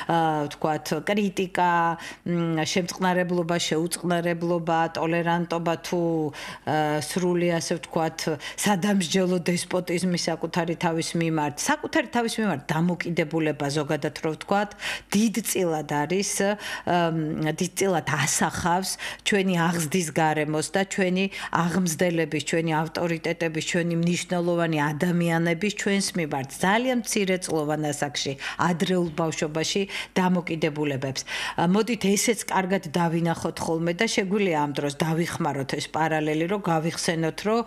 ვთქვათ კრიტიკა, შემწყნარებლობა, შეუწყნარებლობა, ტოლერანტობა თუ სრული ასე ვთქვათ სადამსჯელო დესპოტიზმი საკუთარი თავის მიმართ, საკუთარი თავის მიმართ დამოკიდებულება ზოგადად რო ვთქვათ, დიდწილად არის, დიდწილად ასახავს ჩვენი აღზრდის გარემოს და ჩვენი აღმზრდელების, ჩვენი ავტორიტეტების, ჩვენი მნიშვნელოვანი ადამიანების ჩვენს მიმართ ძალიან მცირე წლოვან ასაკში, ადრეულ ბავშვობაში დამოკიდებულებებს. მოდით ესეც კარგად დავინახოთ ხოლმე და შეგვიძლია ამ დროს დავიხმაროთ ეს პარალელი, რომ გავიხსენოთ, რომ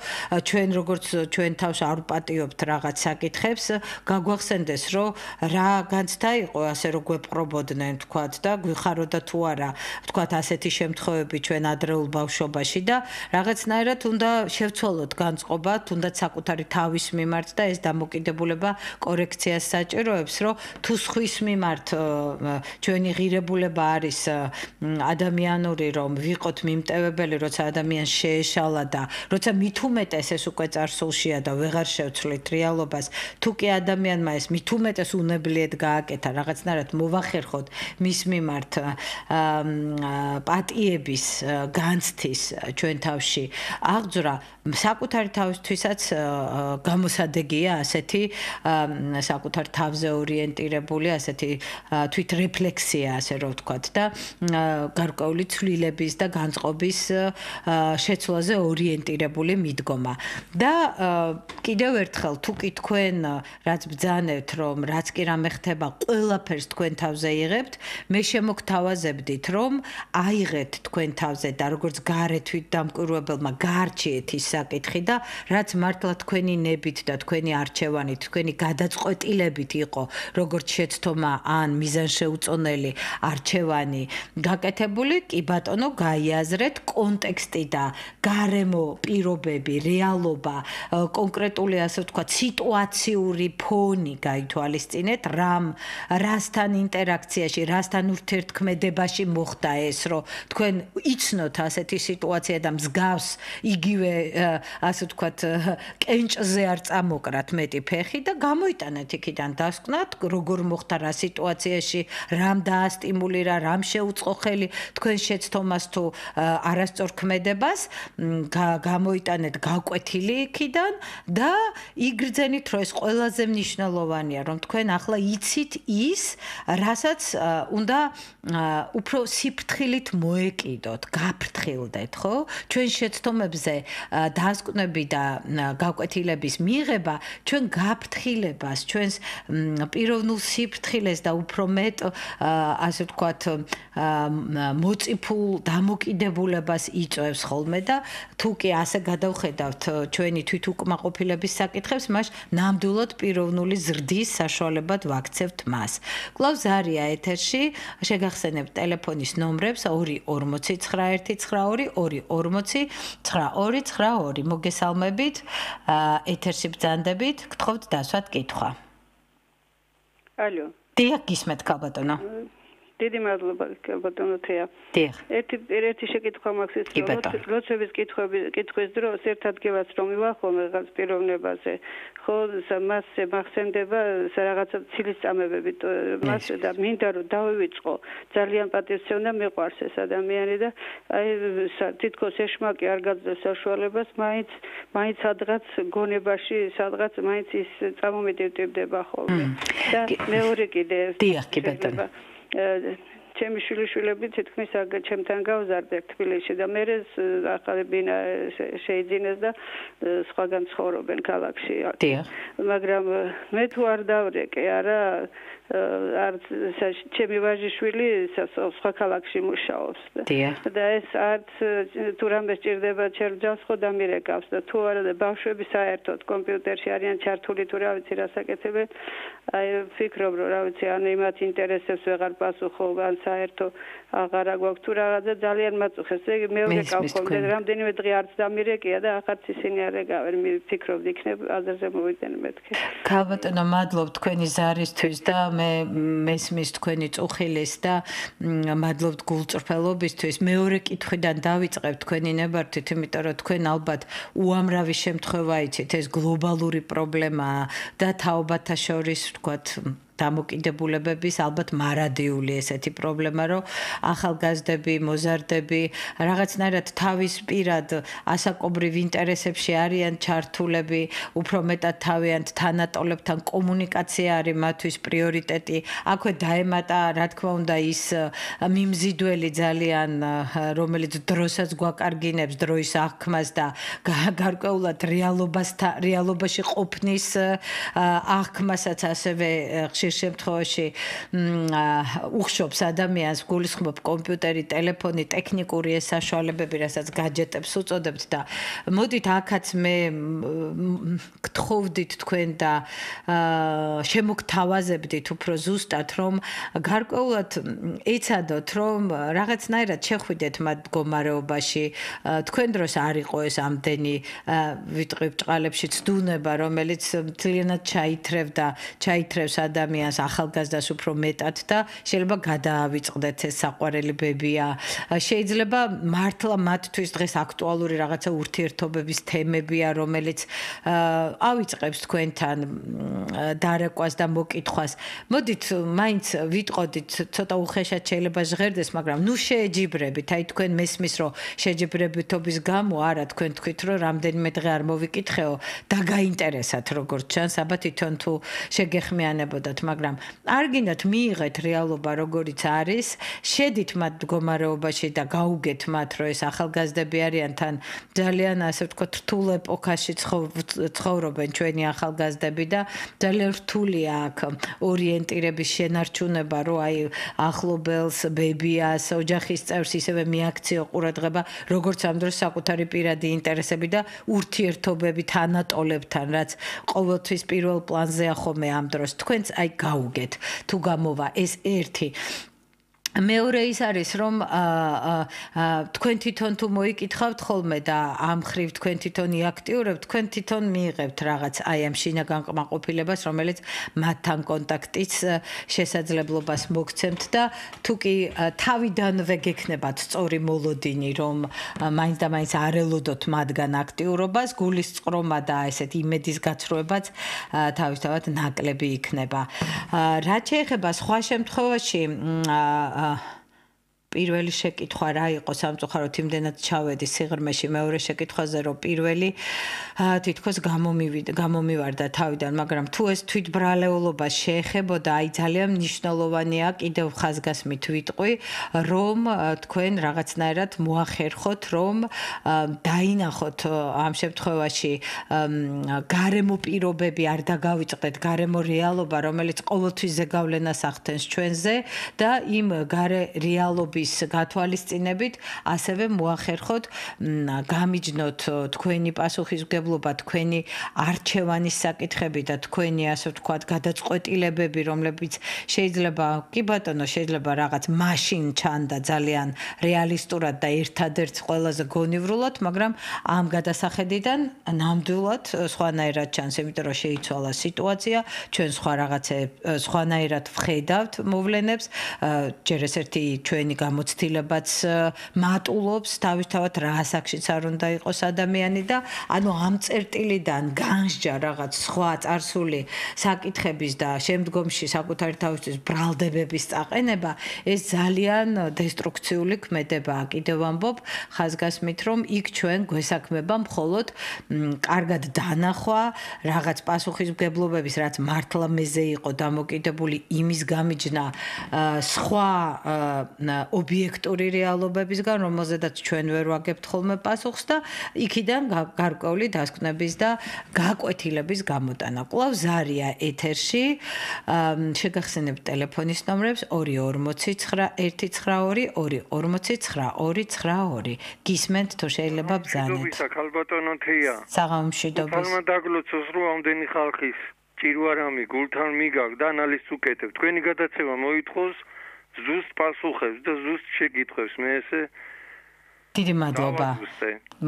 ჩვენ როგორც ჩვენ თავს არ ვპატიობთ რაღაც საკითხებს, გაგვახსენდეს, რომ რა განცდა იყო, ასე რომ გვეპყრობოდნენ, თქვათ და გვიხაროდა თუ არა, თქვათ ასეთი შემთხვევები ჩვენ ადრეულ ბავშვობაში და რაღაცნაირად უნდა შევცვალოთ განწყობა, თუნდაც საკუთარი თავის მიმართ და ეს დამოკიდებულება კორექციას საჭიროებს, რომ თუ სხვის მიმართ ჩვენი ღირებულება არის ადამიანური, რომ ვიყოთ მიმტევებელი, როცა ადამიანს შეეშალა და როცა მით უმეტეს ეს უკვე წარსულშია და ვეღარ შევცვლით რეალობას, თუ კი ადამიანმა ეს მით უმეტეს უნებლიეთ გააკეთა, რაღაცნაირად მოვახერხოთ მის მიმართ პატიების განცდის ჩვენ თავში აღძვრა, საკუთარი თავისთვისაც გამოსადეგია ასეთი საკუთარ თავზე ორიენტირებული ასეთი თვითრეფლექსია, ასე რომ ვთქვათ და გარკვეული ცვლილების და განწყობის შეცვლაზე ორიენტირებული მიდგომა. და კიდევ ერთხელ, თუ კი თქვენ რაც ბრძანებთ, რომ რაც კი რამე ხდება, ყველაფერს თქვენ თავზე იღებთ, მე შემოგთავაზებდით, რომ აიღეთ თქვენ თავზე და როგორც გარე თვითდამკვირვებელმა გაარჩიეთ ის საკითხი და რაც მართლა თქვენი ნებით და თქვენი არჩევანით, თქვენი გადაწყვეტილებით იყო, როგორც შეცდომა ან მიზანშეუწონელი არჩევანი გაკეთებული, კი ბატონო, გაიაზრეთ კონტექსტი და გარემო პირობები, რეალობა, კონკრეტული ასე ვთქვათ, სიტუაციური ფონი გაითვალისწინეთ, რასთან ინტერაქციაში, რასთან ურთიერთქმედებაში მოხდა ეს, რომ თქვენ იცნოთ ასეთი სიტუაცია და მსგავს იგივე ასე ვთქვათ, კენჭზე არ წამოკრათ მეტი ფეხი და გამოიტანეთ იქიდან დასკვნათ, როგორ მოხდა რა სიტუაციაში, რამ დაასტიმულირა, რამ შეუწყო ხელი თქვენ შეცდომას თუ არასწორ ქმედებას, გამოიტანეთ გაკვეთილი იქიდან და იგრძენით, რომ ეს ყველაზე მნიშვნელოვანია, რომ თქვენ ახლა იცით ის, რასაც უნდა უფრო სიფრთხილით მოეკიდოთ, გაფრთხილდეთ, ხო? ჩვენ შეცდომებზე დასკვნები და გაკვეთილების მიღება ჩვენ გაფრთხილებას, ჩვენს პიროვნულ სიფრთხილეს და უფრო მეტ ასე ვთქვათ მოწიფულ დამოკიდებულებას იწვევს ხოლმე და თუ კი ასე გადავხედავთ ჩვენი თვითუკმაყოფილების საკითხებს, მას ნამდვილად პიროვნული ზრდის საშუალებად ვაქცევთ მას. კვლავ ზარია ეთერში, შეგახსენებთ ტელეფონის ნომრებს 240 912 240 მოგესალმებით, ეთერში ბრძანდებით, გთხოვთ დასვათ კითხვა. ალო. დიახ, გისმენთ ქალბატონო. დიდი მადლობა ბატონო თეა. დიახ. ერთი შეკითხვა მაქვს ის რომ ლოცვების კითხვის დროს ერთ ადგილას რომ მივახო რაღაც პიროვნებაზე ხო მასზე მახსენდება რაღაცა ცილისწამებები მას და მინდა რომ დავივიწყო ძალიან პატივცემდა მიყვარს ეს ადამიანი და აი თითქოს ეშმაკი არ გაძლევს საშუალებას მაინც სადღაც გონებაში სადღაც მაინც ის წამომედევდება ხოლმე და მეორე კიდე დიახ კი ბატონო ჩემი შვილიშვილები თითქმის ჩემთან გავზარდე თბილისში და მე ახალი ბინა შეიძინეს და სხვაგან ცხოვრობენ ქალაქში. მაგრამ მე თუ არ დავრეკე, არა არც ჩემი ვაჟიშვილი სხვა ქალაქში მუშაობს და ეს არც თუ რამე სჭირდება ჩერჯავს ხო დამირეკავს და თუ არა ბავშვები საერთოდ კომპიუტერში არიან ჩართული თუ რა ვიცი რა საკეთებენ აი ვფიქრობ რომ რა ვიცი ან იმათ ინტერესებს ვეღარ პასუხობ ან საერთო აღარა გვაქვს თუ რაღაცა ძალიან მაწუხებს ეგ მეორე კავშირი რამდენიმე დღე არც დამირეკია და ახაც ისინი არ ეკავენ ვფიქრობ იქნებ აზერზე მოვიდნენ მეთქე ქალბატონო მადლობ თქვენი ზარისთვის და მე მესმის თქვენი წუხილის და მადლობთ გულწრფელობისთვის მეორე კითხვიდან დავიწყებ თქვენი ნებართვით იმიტომ რომ თქვენ ალბათ უამრავი შემთხვევა იცით ეს გლობალური პრობლემაა და თაობათა შორის ვთქვათ დამოკიდებულებების ალბათ მარადიული ესეთი პრობლემა რომ ახალგაზრდები, მოზარდები რაღაცნაირად თავის პირად ასაკობრივ ინტერესებში არიან ჩართულები, უფრო მეტად თავიანთ თანატოლებთან კომუნიკაცია არის მათთვის პრიორიტეტი. აქვე დაემატა, რა თქმა უნდა, ის მიმზიდველი ძალიან, რომელიც დროსაც გვაკარგინებს, დროის აღქმას და გარკვეულად რეალობაში ყოფნის აღქმასაც ასევე შემთხვევაში უხშობს ადამიანს გულისხმობ კომპიუტერი, ტელეფონი, ტექნიკური ეს საშუალებები, რასაც гаджеტებს უწოდებთ და მოდით აქაც მე გთხოვდით თქვენ და შემოგთავაზებდით უფრო ზუსტად რომ გარკვეულად ეცადოთ რომ რაღაცნაირად შეხვიდეთ მათ მდგომარეობაში თქვენ დროს არ იყო ეს ამდენი ვიტყვი ბჭყალებში ცდუნება რომელიც ძალიანად ჩაითრევს ადამიანს ახალგაზრდას უფრო მეტად და შეიძლება გადაავიწყდეთ ეს საყვარელი ბებია. შეიძლება მართლა მათთვის დღეს აქტუალური რაღაცა ურთიერთობების თემებია, რომელიც ავიწყებს თქვენთან დარეკვას და მოკითხვას. მოდით მაინც ვიტყოდით, ცოტა უხეშად შეიძლება ჟღერდეს, მაგრამ ნუ შეეჯიბრებით. აი თქვენ მესმის რომ შეჯიბრებითობის გამო არა თქვენ თქვით რომ რამდენიმე დღე არ მოვიკითხეო და გაინტერესათ როგორც ჩანს, აბა თვითონ თუ შეგეხმიანებოდათ, მაგრამ არ გინდათ მიიღეთ რეალობა როგორიც არის, შედით მათ მდგომარეობაში და გაუგეთ მათ, რომ ეს ახალგაზრდები არიან თან ძალიან ასე ვთქვათ რთულ ეპოქაში ცხოვრობენ ჩვენი ახალგაზრდები და ძალიან რთულია აქ ორიენტირების შენარჩუნება, რომ აი ახლობელს, ბებიას, ოჯახის წევრს ისევე მიაქციო ყურადღება, როგორც ამ დროს საკუთარი პირადი ინტერესები და ურთიერთობები თანატოლებთან, რაც ყოველთვის პირველ პლანზეა ხოლმე ამ დროს. თქვენც აი გაუგეთ თუ გამოვა ეს ერთი მეორე ის არის რომ თქვენ თვითონ თუ მოიკითხავთ ხოლმე და ამ ხრივ თქვენ თვითონ იაქტიურებთ, თქვენ თვითონ მიიღებთ რაღაც აი ამ შინაგან კმაყოფილებას, რომელიც მათთან კონტაქტის შესაძლებლობას მოგცემთ და თუ კი თავიდანვე გექნებათ სწორი მოლოდინი, რომ მაინც და მაინც არ ელოდოთ მათგან აქტიურობას, გულისწყრომა და ესეთ იმედის გაცრუებაც თავისთავად ნაკლები იქნება. რაც შეეხება სხვა შემთხვევაში პირველი შეკითხვა რა იყო სამწუხაროდ იმდენად ჩავედი სიღრმეში მეორე შეკითხვაზე რომ პირველი თითქოს გამომივარდა თავიდან მაგრამ თუ ეს თვითბრალეულობა შეეხებოდა აი ძალიან მნიშვნელოვანია კიდევ ხაზგასმით ვიტყვი რომ თქვენ რაღაცნაირად მოახერხოთ რომ დაინახოთ ამ შემთხვევაში გარემო პირობები არ დაგავიწყდეთ გარემო რეალობა რომელიც ყოველთვის ზეგავლენას ახდენს ჩვენზე და იმ გარე რეალობის გათვალისწინებით ასევე მოახერხოთ გამიჯნოთ თქვენი პასუხისმგებლობა თქვენი არჩევანის საკითხები და თქვენი ასე ვთქვათ გადაწყვეტილებები რომლებიც შეიძლება კი ბატონო შეიძლება რაღაც მაშინ ჩანდა ძალიან რეალისტურად და ერთადერთ ყველაზე გონივრულად მაგრამ ამ გადასახედიდან ნამდვილად სხვანაირად ჩანს იმიტომ რომ შეიცვალა სიტუაცია ჩვენ სხვანაირად ვხედავთ მოვლენებს ჯერ ეს ერთი ჩვენი გამოცდილებაც მატულობს თავისთავად რა ასაკშიც არ უნდა იყოს ადამიანი და ანუ ამ წერტილიდან განსჯა რაღაც სხვა წარსული საკითხების და შემდგომში საკუთარი თავისთვის ბრალდებების წაყენება ეს ძალიან დესტრუქციული ქმედებაა კიდევ ამბობ ხაზგასმით რომ იქ ჩვენ გვესაქმება მხოლოდ კარგად დანახვა რაღაც პასუხისმგებლობების რაც მართლა მეზე იყო დამოკიდებული იმის გამიჯნა სხვა ობიექტური რეალობებისგან, რომელზედაც ჩვენ ვერ ვაგებთ ხოლმე პასუხს და იქიდან გარკვეული დასკვნების და გაკვეთილების გამოტანა. კვლავ ზარია ეთერში. შეგახსენებთ ტელეფონის ნომრებს 2491292. გისმენთ თუ შეიძლება ბრძანეთ. ხალბატონო თეია. საღამომშვიდობის. თალმა დაგლოცოს რომ ამდენი ხალხის ჭირვარამი გულთან მიგაგ და ანალიზს უკეთებ. თქვენი გადაცემა მოითხოვს ზუსტ პასუხებს და ზუსტ შეკითხვებს მე ესე დიდი მადლობა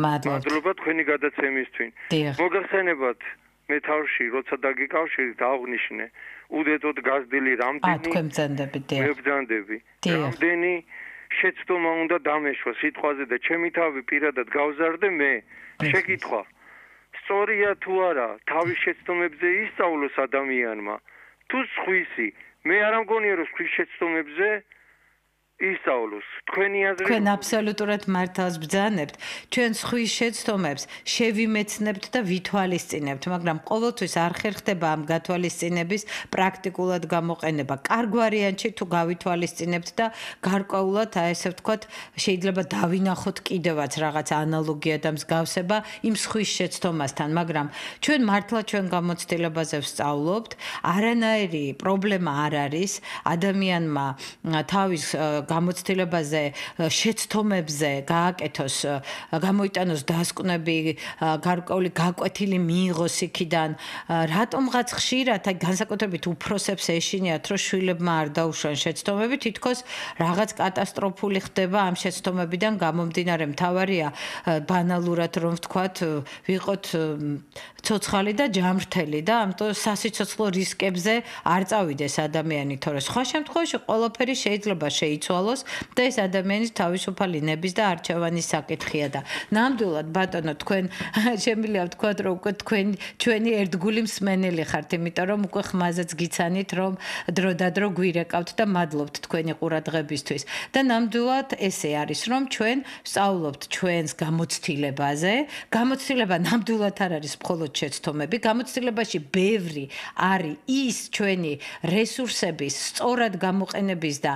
მადლობა თქვენი გადაცემისთვის მოგახსენებათ მე თავში როცა დაგიკავშირეთ აღნიშნე უდედოდ გაზრდილი რამდენი თქვენ ბრძანდებით მე ბრძანდები რამდენი შეცდომა უნდა დამეშვა სიტყვაზე და ჩემი თავი პირადად გავზარდე მე შეკითხვა სწორია თუ არა თავის შეცდომებზე ისწავლოს ადამიანმა თუ სხვისი მე არ ამგონია რომ სხვის შეცდომებზე ისწავლოს თქვენი აზრით თქვენ აბსოლუტურად მართალს ბრძანებთ ჩვენ სხვის შეცდომებს შევიმეცნებთ და ვითვალისწინებთ მაგრამ ყოველთვის არ ხერხდება ამ გათვალისწინების პრაქტიკულად გამოყენება კარგ ვარიანტში თუ გავითვალისწინებთ და გარკვეულად აი ესე ვთქვათ შეიძლება დავინახოთ კიდევაც რაღაც ანალოგია და მსგავსება იმ სხვის შეცდომასთან მაგრამ ჩვენ მართლა ჩვენ გამოცდილებაზე ვსწავლობთ არანაირი პრობლემა არ არის ადამიანმა თავის გამოცდილებაზე შეცდომებზე გააკეთოს გამოიტანოს დასკვნები გარკვეული გაკვეთილი მიიღოს იქიდან რატომღაც ხშირად აი განსაკუთრებით უფროსებს ეშინიათ რომ შვილებმა არ დაუშვან შეცდომები თითქოს რაღაც კატასტროფული ხდება ამ შეცდომებიდან გამომდინარე მთავარია ბანალურად რომ ვთქვათ ვიყოთ ცოცხალი და ჯამრთელი და ამიტომ სასიცოცხლო რისკებზე არ წავიდეს ადამიანი თორე სხვა შემთხვევაში ყველაფერი შეიძლება შეიცვალოს და ეს ადამიანის თავისუფალი ნების და არჩევანის საკითხია და ნამდვილად ბატონო თქვენ შემიძლია ვთქვათ რომ უკვე ჩვენი ერთგული მსმენელი ხართ იმიტომ რომ უკვე ხმაზეც გიცანით რომ დროდადრო გვირეკავთ და მადლობთ თქვენი ყურადღებისთვის და ნამდვილად ესე არის რომ ჩვენ ვსწავლობთ ჩვენს გამოცდილებაზე გამოცდილება ნამდვილად არ არის მხოლოდ შეცდომები გამოცდილებაში ბევრი არის ის ჩვენი რესურსების სწორად გამოყენების და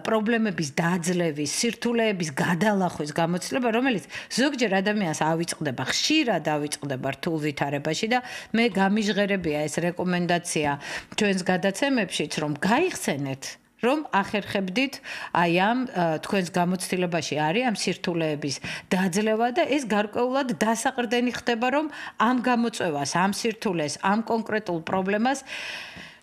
პრობლემების დაძლევის, სირთულეების გადალახვის გამოცდილება, რომელიც ზოგჯერ ადამიანს ავიწყდება, ხშირად ავიწყდება რთულ ვითარებაში და მე გამიჟღერებია ეს რეკომენდაცია ჩვენს გადაცემებშიც, რომ გაიხსენეთ რომ ახერხებდით აი ამ თქვენს გამოცდილებაში არის ამ სირთულეების დაძლევა და ეს გარკვეულად დასაყრდენი ხდება რომ ამ გამოწვევას, ამ სირთულეს, ამ კონკრეტულ პრობლემას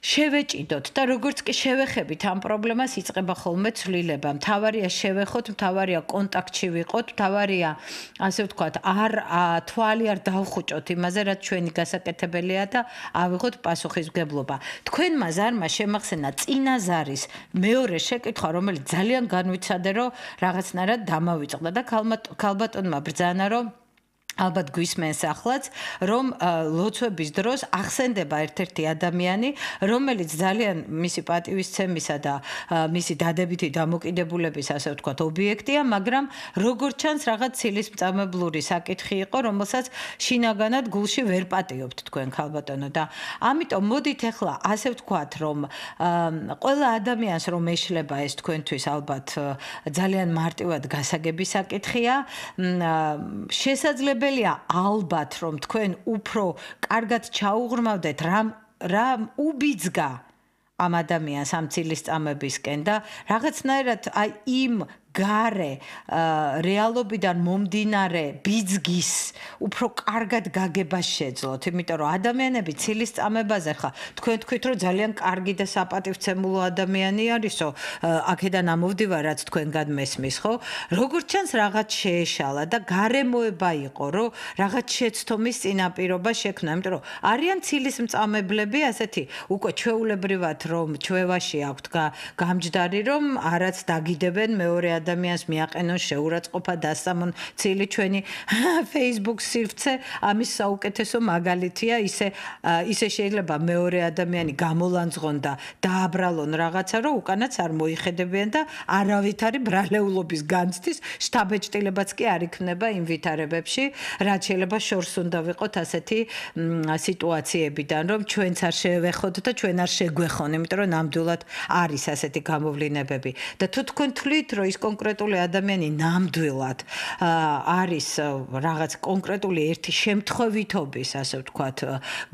შევეჭიდოთ და როგორც კი შევეხებით ამ პრობლემას იწყება ხოლმე ცვლილება. მთავარია შევეხოთ, მთავარია კონტაქტში ვიყოთ, მთავარია ასე ვთქვათ, თვალი არ დავხუჭოთ იმაზე, რაც ჩვენი გასაკეთებელია და ავიღოთ პასუხისმგებლობა. თქვენმა ზარმა შემახსენა წინა ზარის მეორე შეკითხვა, რომელიც ძალიან განვიცადე, რომ რაღაცნაირად დამავიწყდა და ქალბატონმა ბრძანა, რომ ალბათ გვისმენს ახლაც, რომ ლოცვების დროს ახსენდება ერთ-ერთი ადამიანი, რომელიც ძალიან მისი პატივისცემისა და მისი დადებითი დამოკიდებულების, ასე ვთქვათ, ობიექტია, მაგრამ როგორც ჩანს, რაღაც ცილისწამებლური საკითხი იყო, რომელსაც შინაგანად გულში ვერ პატიობთ თქვენ ქალბატონო და ამიტომ მოდით ახლა ასე ვთქვათ, რომ ყველა ადამიანს რომ ეშლება ეს თქვენთვის ალბათ ძალიან მარტივად გასაგები საკითხია, შესაძლებელი ალბათ რომ თქვენ უფრო კარგად ჩაუღრმავდეთ რამ უბიძგა ამ ადამიანს ამ ცილისწამებისკენ და რაღაცნაირად აი იმ გარე რეალობიდან მომდინარე ბიძგის უფრო კარგად გაგებას შეძლოთ, იმიტომ რომ ადამიანები ცილისწამებაზე ხა თქვენ თქვით რომ ძალიან კარგი და საპატივცემულო ადამიანი არისო, აქედან ამოვდივარ რაც თქვენგან მესმის, ხო? როგორც ჩანს რაღაც შეეშალა და გარემოება იყო, რომ რაღაც შეცდომის წინაპირობა შექმნა, იმიტომ რომ არიან ცილისწამებლები ასეთი უკვე ჩვეულებრივად რომ ჩვევაში აქვთ გამჯდარი რომ არაც დაგიდებენ მეორე ადამიანს მიაყენონ შეურაცხყოფა დასამონ ცილი ჩვენი Facebook სივრცე ამის საუკეთესო მაგალითია ისე შეიძლება მეორე ადამიანი გამოლანძღონ და დააბრალონ რაღაცა რომ უკანაც არ მოიხედებიან და არავითარი ბრალეულობის განცდის შთაბეჭდილებაც კი არ იქნება იმ ვითარებებში რაც შეიძლება შორს უნდა ვიყოთ ასეთი სიტუაციებიდან რომ ჩვენც არ შევეხოთ და ჩვენ არ შეგვეხონ იმიტომ რომ ნამდვილად არის ასეთი გამოვლინებები და თუ თქვენ თვლით რომ ის კონკრეტული ადამიანი ნამდვილად არის რაღაც კონკრეტული ერთი შემთხვევითობის, ასე ვთქვათ,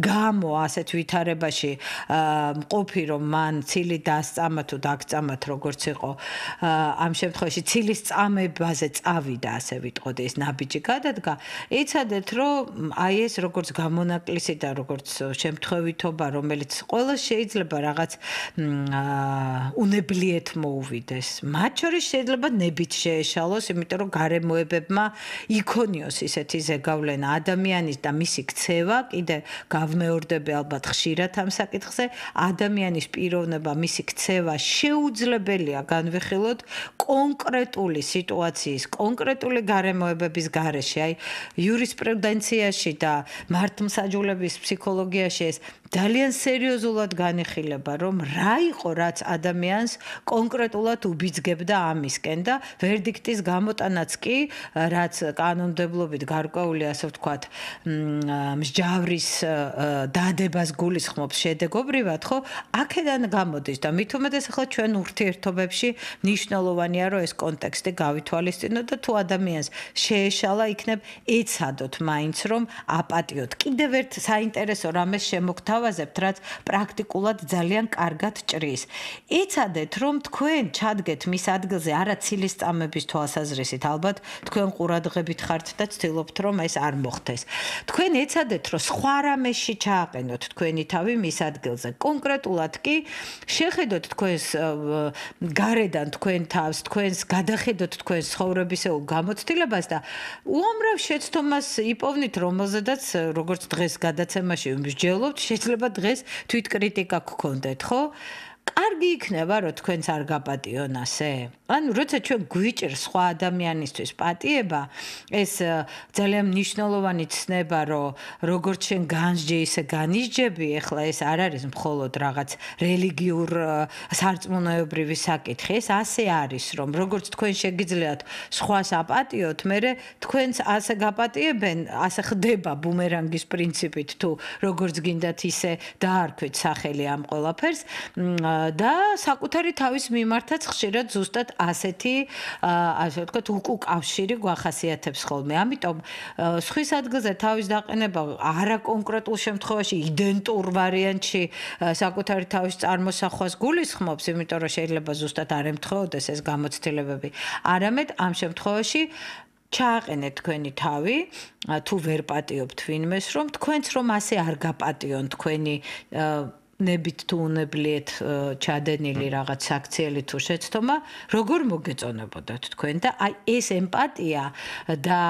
გამო ასეთ ვითარებაში მყოფი, რომ მან ცილი დასწამა თუ დაგწამათ, როგორც იყო, ამ შემთხვევაში ცილის წამებაზე წავიდა, ასე ვიტყოდი, ეს ნაბიჯი გადადგა. იცადეთ, რომ აი ეს როგორც გამონაკლისი და როგორც შემთხვევითობა, რომელიც ყველა შეიძლება რაღაც უნებლიეთ მოუვიდეს. მათ შორის შეიძლება ნებით შეეშალოს, იმიტომ რომ გარემოებებმა იქონიოს ისეთი ზეგავლენა ადამიანის და მისი ქცევა, კიდე გავმეორდები ალბათ ხშირად ამ საკითხზე, ადამიანის პიროვნება, მისი ქცევა შეუძლებელია განვიხილოთ კონკრეტული სიტუაციის, კონკრეტული გარემოებების გარეშე, აი იურისპრუდენციაში და მართლმსაჯულების ფსიქოლოგიაში ეს ძალიან სერიოზულად განიხილება, რომ რა იყო, რაც ადამიანს კონკრეტულად უბიძგებდა ამისკენ და ვერდიქტის გამოტანაც კი, რაც კანონმდებლობით გარკვეული, ასე ვთქვათ, მსჯავრის დადებას გულისხმობს შედეგობრივად, ხო? აქედან გამოდის და მით უმეტეს ახლა ჩვენ ურთიერთობებში მნიშვნელოვანია, რომ ეს კონტექსტი გავითვალისწინოთ და თუ ადამიანს შეეშალა, იქნებ ეცადოთ მაინც რომ აპატიოთ. კიდევ ერთ საინტერესო რამეს შემოგთავაზებთ, რაც პრაქტიკულად ძალიან კარგად ჭრის. ეცადეთ რომ თქვენ ჩადგეთ მის ადგილზე არა ცილისწამების თვალსაზრისით, ალბათ თქვენ ყურადღებით ხართ და ცდილობთ რომ ეს არ მოხდეს. თქვენ ეცადეთ რომ სხვა რამეში ჩააყენოთ თქვენი თავი მის ადგილზე. კონკრეტულად კი შეხედოთ თქვენს გარედან თქვენ თავს, თქვენს გადახედოთ თქვენს ცხოვრებისეულ გამოცდილებას და უამრავ შეცდომას იპოვნით, რომელზედაც როგორც დღეს გადაცემაში მსჯელობთ, შეიძლება დღეს თვითკრიტიკა გქონდეთ, ხო? კარგი იქნება, რომ თქვენც არ გაპატიონ ასე. ანუ როცა ჩვენ გვიჭირს სხვა ადამიანისთვის პატიება, ეს ძალიან მნიშვნელოვანი ცნება, რომ როგორც შენ განსჯე, ისე განისჯები, ეხლა ეს არ არის მხოლოდ რაღაც რელიგიურ სარწმუნოებრივი საკითხი, ეს ასე არის, რომ როგორც თქვენ შეგიძლიათ სხვას აპატიოთ, მერე თქვენც ასე გაპატიებენ, ასე ხდება ბუმერანგის პრინციპით, თუ როგორც გინდათ ისე დაარქვით სახელი ამ ყველაფერს. და საკუთარი თავის მიმართაც ხშირად ზუსტად ასეთი, ასე ვთქვათ, უკავშირი გვახასიათებს ხოლმე. ამიტომ სხვის ადგილზე თავის დაყენება არა კონკრეტულ შემთხვევაში იდენტურ ვარიანტში საკუთარი თავის წარმოსახვას გულისხმობს, იმიტომ რომ შეიძლება ზუსტად არ ემთხვეოდეს ეს გამოცდილებები. არამედ ამ შემთხვევაში ჩააყენეთ თქვენი თავი, თუ ვერ პატიობთ ვინმეს, რომ თქვენც რომ ასე არ გაპატიონ თქვენი ნებით თუ უნებლიეთ ჩადენილი რაღაც საქციელი თუ შეცდომა, როგორ მოგეწონებოდათ თქვენ და აი ეს ემპათია და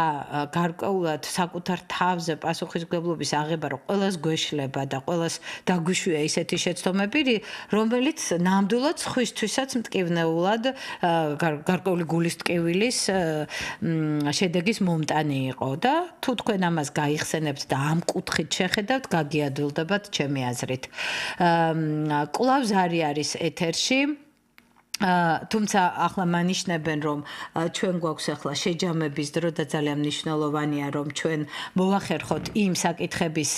გარკვეულად საკუთარ თავზე პასუხისმგებლობის აღება, რომ ყველას გვეშლება და ყველას დაგვიშვია ისეთი შეცდომები, რომელიც ნამდვილად სხვისთვისაც მტკივნეულად გარკვეული გულის ტკივილის შედეგის მომტანი იყო და თუ თქვენ ამას გაიხსენებთ და ამ კუთხით შეხედავთ, გაგიადვილდებათ ჩემი აზრით. კვლავ ზარი არის ეთერში. თუმცა ახლა მანიშნებენ რომ ჩვენ გვაქვს ახლა შეჯამების დრო და ძალიან მნიშვნელოვანია რომ ჩვენ მოვახერხოთ იმ საკითხების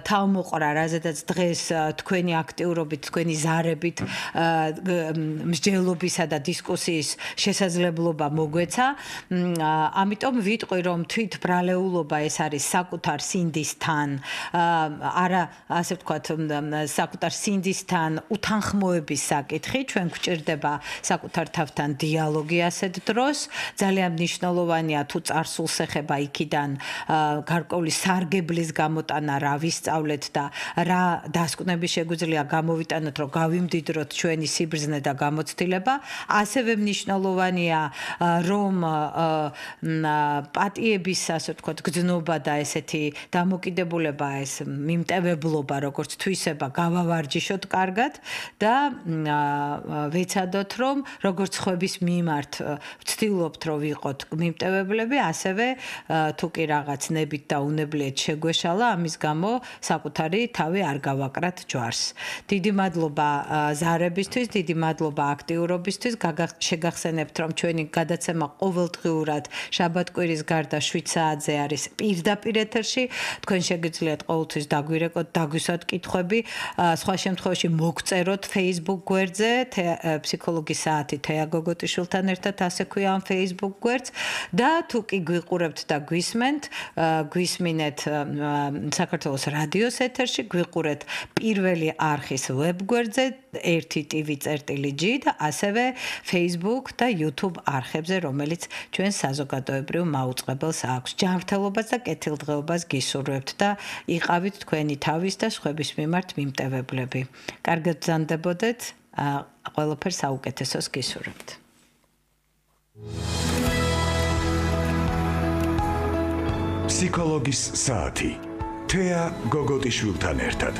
თავმოყრა, რაზედაც დღეს თქვენი აქტიურობით, თქვენი ზარებით, მსჯელობისა და დისკუსიის შესაძლებლობა მოგვეცა. ამიტომ ვიტყვი რომ თვით ბრალეულობა ეს არის საკუთარ სინდისთან, არა ასე ვთქვათ, საკუთარ სინდისთან უთანხმოების საკითხი, ჩვენ გვჭირდება საკუთარ თავთან დიალოგი ასეთ დროს. ძალიან მნიშვნელოვანია თუ წარსულს ეხება იქიდან გარკვეული სარგებლის გამოტანა, რა ვისწავლეთ და რა დასკვნები შეგვიძლია გამოვიტანოთ, რომ გავიმდიდროთ ჩვენი სიბრძნე და გამოცდილება. ასევე მნიშვნელოვანია რომ პატიების ასე ვთქვათ გრძნობა და ესეთი დამოკიდებულება, ეს მიმტევებლობა, როგორც თვისება, გავავარჯიშოთ კარგად და ვეცადოთ რომ როგორც ხვების მიმართ ვცდილობთ რომ ვიყოთ მიმტევებლები, ასევე თუ კი რაღაც ნებით და უნებლიეთ შეგვეშალა, ამის გამო საკუთარი თავი არ გავაკრათ ჯვარს. დიდი მადლობა ზარებისთვის, დიდი მადლობა აქტიურობისთვის. შეგახსენებთ რომ ჩვენი გადაცემა ყოველდღიურად შაბათ-კვირის გარდა 7 საათზე არის პირდაპირ ეთერში. თქვენ შეგიძლიათ ყოველთვის დაგვირეკოთ, დაგვისვათ კითხვები, სხვა შემთხვევაში მოგწეროთ Facebook გვერდზე ფსიქოლოგის საათი თეა გოგოტიშვილთან ერთად, ასე ქვია ამ Facebook გვერდს და თუ კი გვიყურებთ და გვისმენთ, გვისმინეთ საქართველოს რადიოს ეთერში, გვიყურეთ პირველი არხის ვებ გვერდზე 1tv.g და ასევე Facebook და YouTube არხებზე, რომელიც ჩვენ საზოგადოებრივ მაუწყებელს აქვს. ჯანმრთელობას და კეთილდღეობას გისურვებთ და იყავით თქვენი თავის და სხვების მიმართ მიმტევებლები. კარგად ბრძანდებოდეთ. ყველაფერს საუკეთესოს გისურვებთ. ფსიქოლოგის საათი. თეა გოგოტიშვილთან ერთად.